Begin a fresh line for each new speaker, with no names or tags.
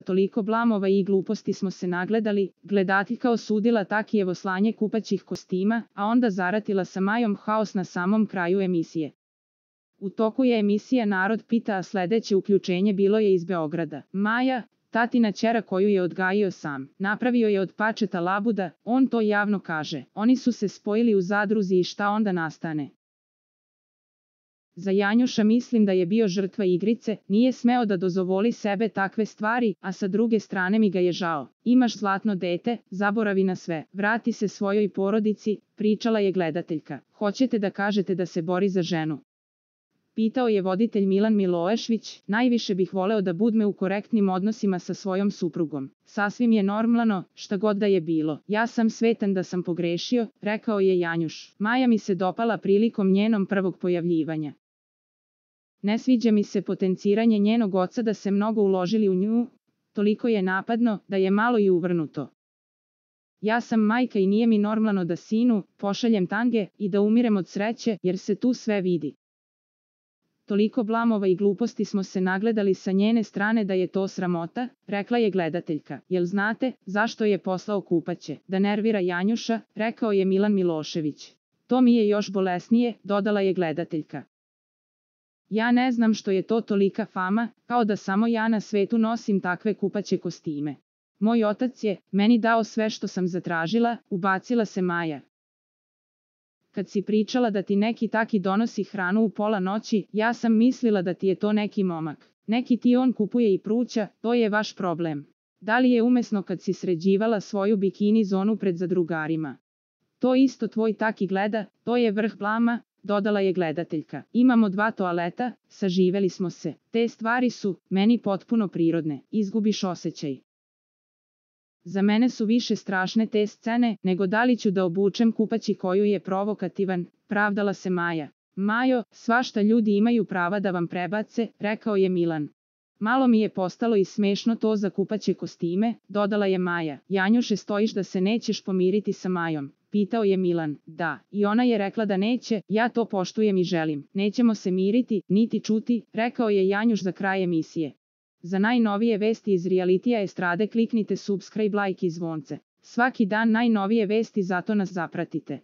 toliko blamova i gluposti smo se nagledali, gledateljka osudila Takijevo slanje kupaćih kostima, a onda zaratila sa Majom haos na samom kraju emisije. U toku je emisija Narod pita, a sledeće uključenje bilo je iz Beograda. Maja, tatina ćera koju je odgajio sam, napravio je od pačeta labuda, on to javno kaže. Oni su se spojili u zadruzi i šta onda nastane? Za Janjuša mislim da je bio žrtva igrice, nije smeo da dozvoli sebe takve stvari, a sa druge strane mi ga je žao. Imaš zlatno dete, zaboravi na sve, vrati se svojoj porodici, pričala je gledateljka. Hoćete da kažete da se bori za ženu? Pitao je voditelj Milan Milošević, najviše bih voleo da budem u korektnim odnosima sa svojom suprugom. Sasvim je normalno, šta god da je bilo. Ja sam svetan da sam pogrešio, rekao je Janjuš. Maja mi se dopala prilikom njenom prvog pojavljivanja. Ne sviđa mi se potenciranje njenog oca da se mnogo uložili u nju, toliko je napadno, da je malo i uvrnuto. Ja sam majka i nije mi normalno da sinu pošaljem tange i da umirem od sreće, jer se tu sve vidi. Toliko blamova i gluposti smo se nagledali sa njene strane da je to sramota, rekla je gledateljka. Jel znate, zašto je poslao kupaće? Da nervira Janjuša, rekao je Milan Milošević. To mi je još bolesnije, dodala je gledateljka. Ja ne znam što je to tolika fama, kao da samo ja na svetu nosim takve kupaće kostime. Moj otac je meni dao sve što sam zatražila, ubacila se Maja. Kad si pričala da ti neki taki donosi hranu u pola noći, ja sam mislila da ti je to neki momak. Neki ti on kupuje i pruća, to je vaš problem. Da li je umesno kad si sređivala svoju bikini zonu pred zadrugarima? To isto tvoj taki gleda, to je vrh blama, dodala je gledateljka. Imamo 2 toaleta, saživeli smo se. Te stvari su meni potpuno prirodne, izgubiš osjećaj. Za mene su više strašne te scene, nego da li ću da obučem kupaći koju je provokativan, pravdala se Maja. Majo, svašta ljudi imaju prava da vam prebace, rekao je Milan. Malo mi je postalo i smešno to za kupaće kostime, dodala je Maja. Janjuše, stojiš da se nećeš pomiriti sa Majom? Pitao je Milan. Da, i ona je rekla da neće, ja to poštujem i želim. Nećemo se miriti, niti čuti, rekao je Janjuš za kraj emisije. Za najnovije vesti iz realitija estrade kliknite subscribe, like i zvonce. Svaki dan najnovije vesti, zato nas zapratite.